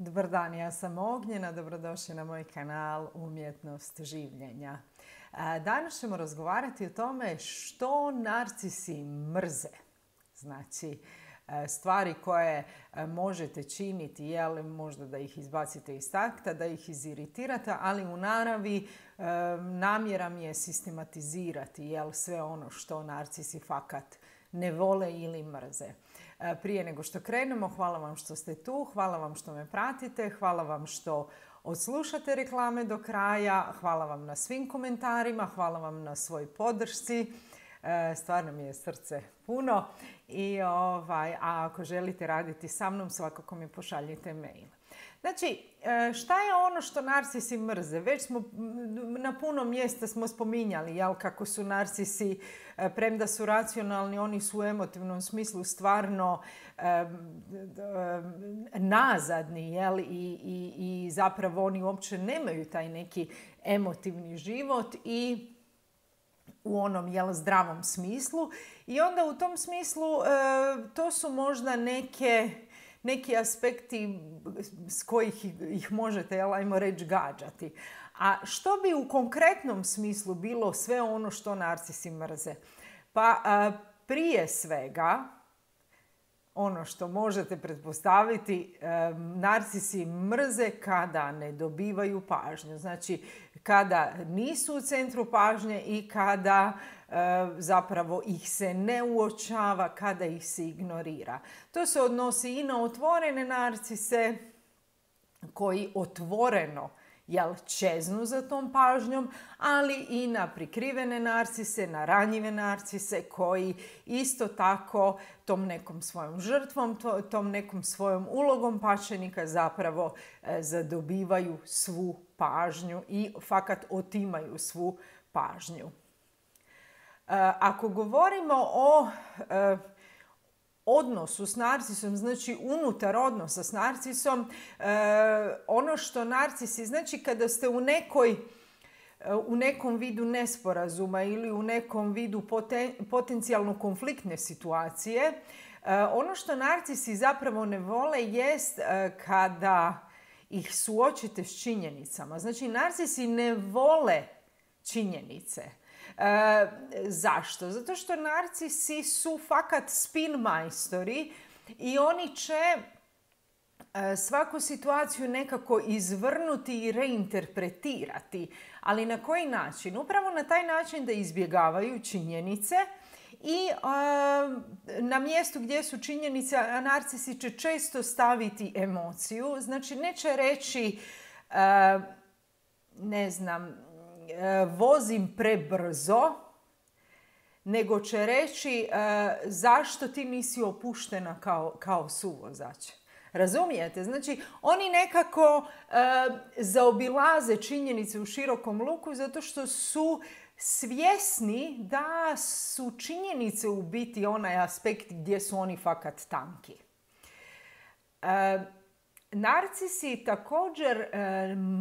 Dobar dan, ja sam Ognjena, dobrodošli na moj kanal Umjetnost življenja. Danas ćemo razgovarati o tome što narcisi mrze. Znači, stvari koje možete činiti, jel, možda da ih izbacite iz takta, da ih iziritirate, ali u naravi namjera mi je sistematizirati, jel, sve ono što narcisi fakat ne vole ili mrze. Prije nego što krenemo, hvala vam što ste tu, hvala vam što me pratite, hvala vam što odslušate reklame do kraja, hvala vam na svim komentarima, hvala vam na svoj podršci. Stvarno mi je srce puno a ako želite raditi sa mnom, svakako mi pošaljite mail. Znači, šta je ono što narcisi mrze? Već smo na puno mjesta smo spominjali, jel, kako su narcisi, premda su racionalni, oni su u emotivnom smislu stvarno nazadni, jel, i zapravo oni uopće nemaju taj neki emotivni život i u onom, jel, zdravom smislu. I onda u tom smislu to su možda neki aspekti s kojih ih možete, jel, ajmo reći, gađati. A što bi u konkretnom smislu bilo sve ono što narcisi mrze? Pa prije svega, ono što možete pretpostaviti, narcisi mrze kada ne dobivaju pažnju. Znači, kada nisu u centru pažnje i kada zapravo ih se ne uočava, kada ih se ignorira. To se odnosi i na otvorene narcise koji otvoreno, jel, čeznu za tom pažnjom, ali i na prikrivene narcise, na ranjive narcise koji isto tako tom nekom svojom žrtvom, tom nekom svojom ulogom pačenika zapravo zadobivaju svu pažnju i fakat otimaju svu pažnju. Ako govorimo o odnosu s narcisom, znači unutar odnosa s narcisom, ono što narcisi, znači kada ste u nekom vidu nesporazuma ili u nekom vidu potencijalno konfliktne situacije, ono što narcisi zapravo ne vole jest kada ih suočite s činjenicama. Znači, narcisi ne vole činjenice. Zašto? Zato što narcisi su fakat spin majstori i oni će svaku situaciju nekako izvrnuti i reinterpretirati. Ali na koji način? Upravo na taj način da izbjegavaju činjenice i na mjestu gdje su činjenice, narcisi će često staviti emociju. Znači, neće reći, ne znam, vozim prebrzo, nego će reći zašto ti nisi opuštena kao suvozač. Razumijete? Znači, oni nekako zaobilaze činjenice u širokom luku zato što su svjesni da su činjenice u biti onaj aspekt gdje su oni fakat tanki. Narcisi također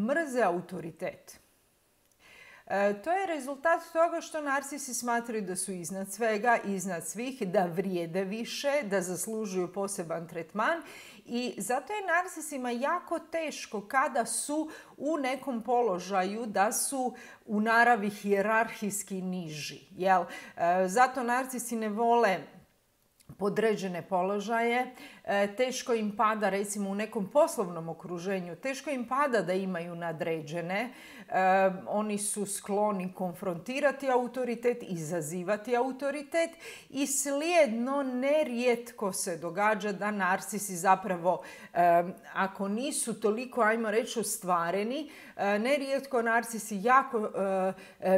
mrze autoritet. To je rezultat toga što narcisi smatraju da su iznad svega, iznad svih, da vrijede više, da zaslužuju poseban tretman i zato je narcisima jako teško kada su u nekom položaju da su u naravi hijerarhijski niži. Jel? Zato narcisi ne vole podređene položaje, teško im pada, recimo u nekom poslovnom okruženju, teško im pada da imaju nadređene, oni su skloni konfrontirati autoritet, izazivati autoritet i slijedno nerijetko se događa da narcisi zapravo, ako nisu toliko, ajmo reći, ostvareni, nerijetko narcisi jako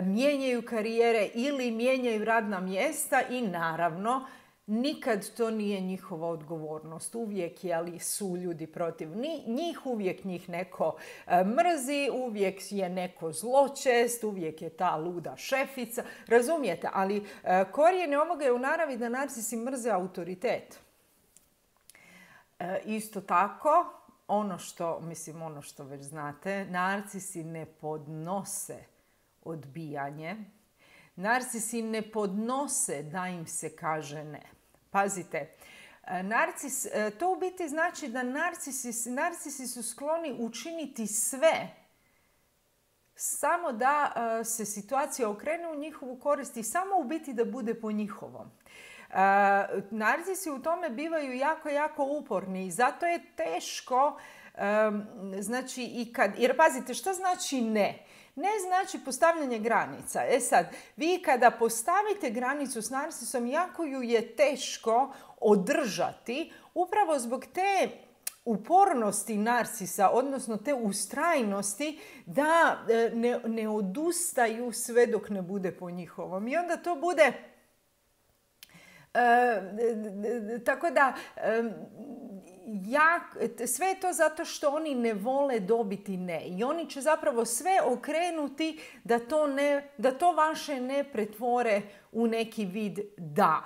mijenjaju karijere ili mijenjaju radna mjesta i naravno nikad to nije njihova odgovornost. Uvijek su ljudi protiv njih, uvijek njih neko mrzi, uvijek je neko zločest, uvijek je ta luda šefica. Razumijete? Ali korijen ovoga je u naravi da narcisi mrze autoritet. Isto tako, ono što već znate, narcisi ne podnose odbijanje. Narcisi ne podnose da im se kaže ne. Pazite, To u biti znači da narcisi su skloni učiniti sve samo da se situacija okrene u njihovu korist i samo u biti da bude po njihovom. Narcisi u tome bivaju jako, jako uporni i zato je teško, znači, jer pazite, što znači ne? Ne znači postavljanje granica. Sad, vi kada postavite granicu s narcisom, jako ju je teško održati, upravo zbog te upornosti narcisa, odnosno te ustrajnosti da ne odustaju sve dok ne bude po njihovom. I onda to bude tako da sve je to zato što oni ne vole dobiti ne. I oni će zapravo sve okrenuti da to vaše ne pretvore u neki vid da.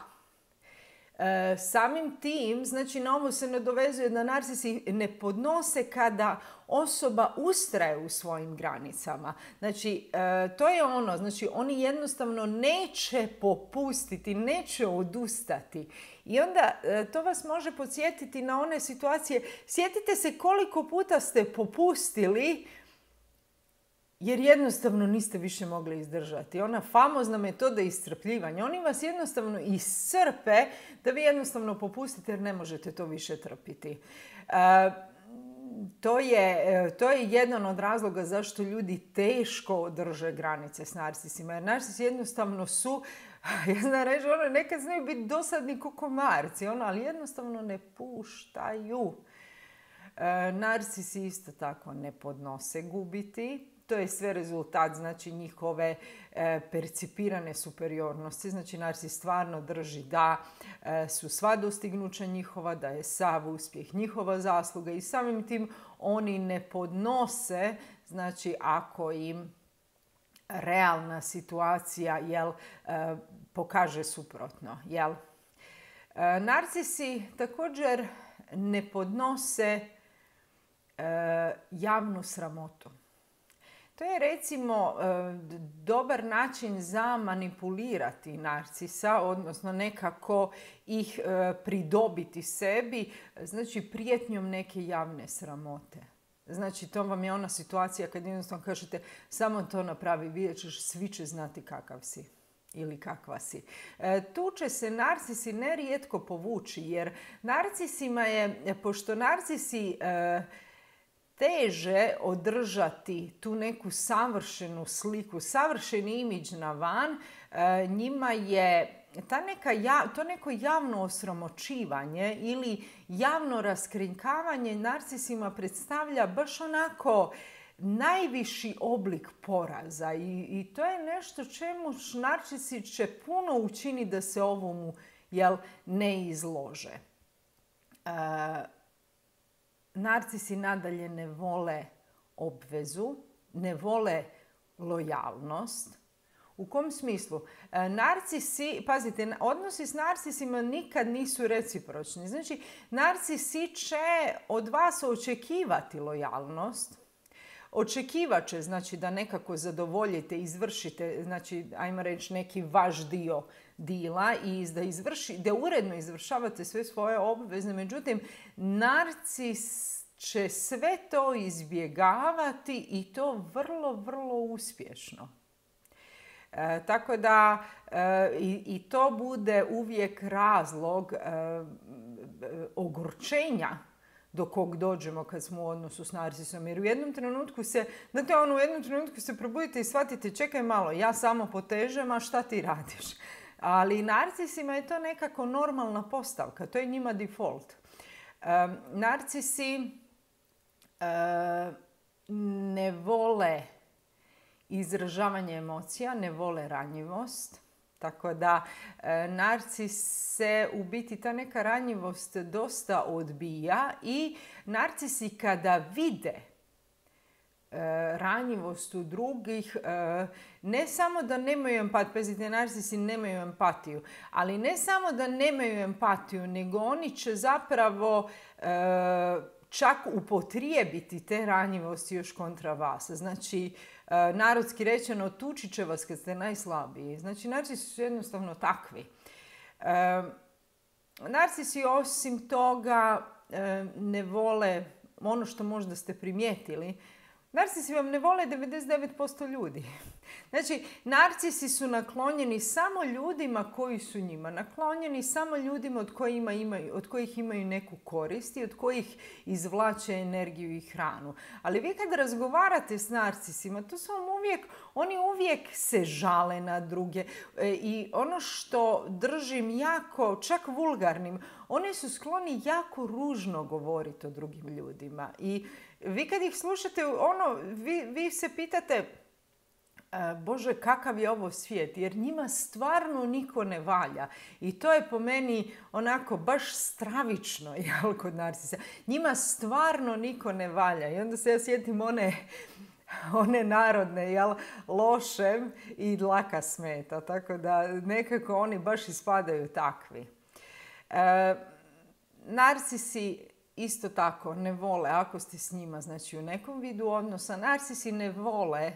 Samim tim, znači na ovo se nadovezuje da narcisi ne podnose kada osoba ustraje u svojim granicama. Znači, to je ono, znači oni jednostavno neće popustiti, neće odustati. I onda to vas može podsjetiti na one situacije. Sjetite se koliko puta ste popustili jer jednostavno niste više mogli izdržati. Ona famozna metoda iscrpljivanja. Oni vas jednostavno iscrpe da vi jednostavno popustite jer ne možete to više trpiti. To je jedan od razloga zašto ljudi teško održe granice s narcisima. Jer narcisi jednostavno su, ja znam reći, nekad znaju biti dosadni ko komarci, ali jednostavno ne puštaju. Narcisi isto tako ne podnose gubiti. To je sve rezultat, znači, njihove percipirane superiornosti. Znači, narcis stvarno drži da su sva dostignuća njihova, da je sav uspjeh njihova zasluga i samim tim oni ne podnose, znači, ako im realna situacija pokaže suprotno. Narcisi također ne podnose javnu sramotu. To je recimo dobar način za manipulirati narcisa, odnosno nekako ih pridobiti sebi, znači prijetnjom neke javne sramote. Znači to vam je ona situacija kad jednostavno kažete samo to napravi, vidjet ćeš, svi će znati kakav si ili kakva si. Tu će se narcisi nerijetko povući jer narcisima je, pošto narcisi teže održati tu neku savršenu sliku, savršeni imidž na van, njima je to neko javno osramoćivanje ili javno raskrinkavanje narcisima predstavlja baš onako najviši oblik poraza i to je nešto čemu narcisi će puno učiniti da se ovomu ne izlože. Narcisi nadalje ne vole obvezu, ne vole lojalnost. U kom smislu? Narcisi, pazite, odnosi s narcisima nikad nisu recipročni. Znači, narcisi će od vas očekivati lojalnost, očekivat će, znači, da nekako zadovoljite, izvršite, znači, ajmo reći, neki vaš dio dila i da uredno izvršavate sve svoje obveze. Međutim, narcis će sve to izbjegavati i to vrlo, vrlo uspješno. Tako da i to bude uvijek razlog ogorčenja do kog dođemo kad smo u odnosu s narcisom. Jer u jednom trenutku se probudite i shvatite, čekaj malo, ja samo potežem, a šta ti radiš? Ali narcisima je to nekako normalna postavka, to je njima default. Narcisi ne vole izražavanje emocija, ne vole ranjivost. Tako da narcise u biti ta neka ranjivost dosta odbija i narcisi kada vide ranjivost u drugih, ne samo da nemaju empatiju, pazite, narcisi nemaju empatiju, ali ne samo da nemaju empatiju, nego oni će zapravo čak upotrijebiti te ranjivosti još kontra vas. Znači, narodski rečeno, tući će vas kad ste najslabiji. Znači, narcisi su jednostavno takvi. Narcisi osim toga ne vole ono što možda ste primijetili. Narcisi vam ne vole 99% ljudi. Znači, narcisi su naklonjeni samo ljudima koji su njima naklonjeni, samo ljudima od kojih imaju neku korist i od kojih izvlače energiju i hranu. Ali vi kad razgovarate s narcisima, to su vam oni uvijek se žale na druge. I ono što držim jako, čak vulgarnim, oni su skloni jako ružno govoriti o drugim ljudima. I vi kad ih slušate, vi se pitate, Bože, kakav je ovo svijet, jer njima stvarno niko ne valja. I to je po meni onako baš stravično, jel, kod narcisa. Njima stvarno niko ne valja. I onda se ja sjetim one narodne, jel, lošem i dlaka smeta. Tako da nekako oni baš ispadaju takvi. Narcisi isto tako ne vole, ako ste s njima, znači u nekom vidu odnosa, narcisi ne vole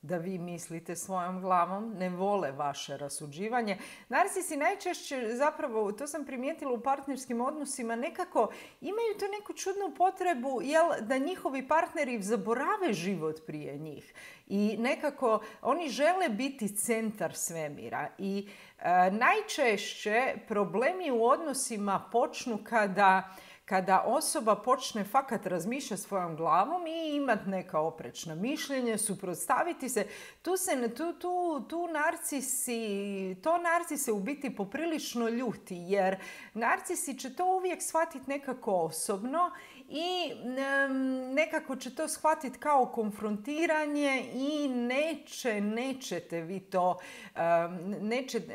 da vi mislite svojom glavom, ne vole vaše rasuđivanje. Narcisi najčešće, zapravo, to sam primijetila u partnerskim odnosima, nekako imaju tu neku čudnu potrebu da njihovi partneri zaborave život prije njih. I nekako oni žele biti centar svemira. I najčešće problemi u odnosima počnu kada osoba počne fakat razmišljati svojom glavom i imati neka oprečna mišljenja, suprotstaviti se, to narcise u biti poprilično ljuti, jer narcisi će to uvijek shvatiti nekako osobno i nekako će to shvatiti kao konfrontiranje i nećete vi to,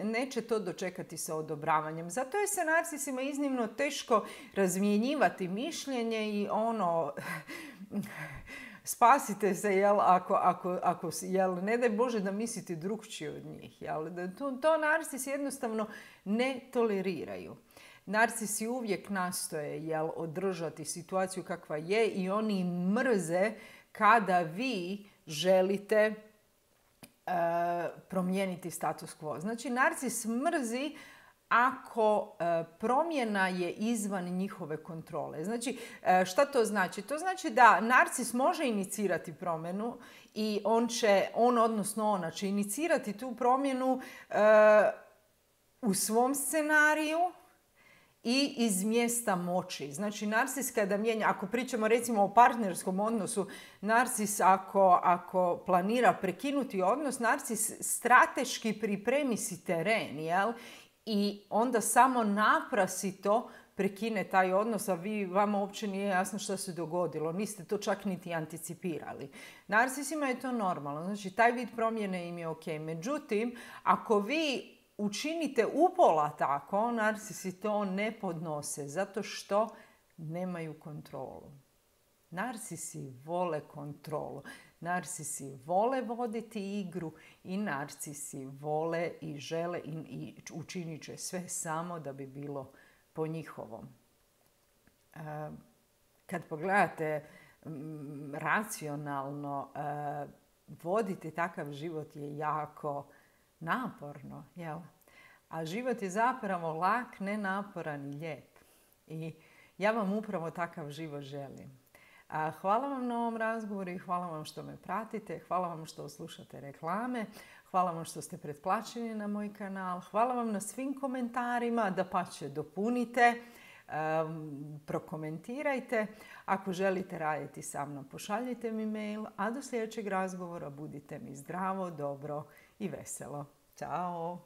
neće to dočekati sa odobravanjem. Zato je se narcisima iznimno teško razmjenjivati mišljenje i spasite se, jel, ako jel, ne daj Bože da mislite drukčije od njih. Jel. To narcisi jednostavno ne toleriraju. Narcisi uvijek nastoje održati situaciju kakva je i oni mrze kada vi želite promijeniti status quo. Znači, narcis mrzi ako promjena je izvan njihove kontrole. Znači, šta to znači? To znači da narcis može inicirati promjenu i ona će inicirati tu promjenu u svom scenariju i iz mjesta moći. Znači, narcis kada mijenja, ako pričamo recimo o partnerskom odnosu, narcis ako planira prekinuti odnos, narcis strateški pripremi si teren, jel? I onda samo naprasito prekine taj odnos, a vama uopće nije jasno što se dogodilo. Niste to čak niti anticipirali. Narcisima je to normalno. Znači, taj vid promjene im je ok. Međutim, ako vi učinite upola tako, narcisi to ne podnose zato što nemaju kontrolu. Narcisi vole kontrolu. Narcisi vole voditi igru i narcisi vole i žele i učinit će sve samo da bi bilo po njihovom. Kad pogledate racionalno, voditi takav život je jako naporno, jel? A život je zapravo lak, nenaporan i lijep. I ja vam upravo takav život želim. Hvala vam na ovom razgovoru i hvala vam što me pratite. Hvala vam što slušate reklame. Hvala vam što ste pretplaćeni na moj kanal. Hvala vam na svim komentarima. Dapače, dopunite, prokomentirajte. Ako želite raditi sa mnom, pošaljite mi mail. A do sljedećeg razgovora budite mi zdravo, dobro i veselo. Ćao!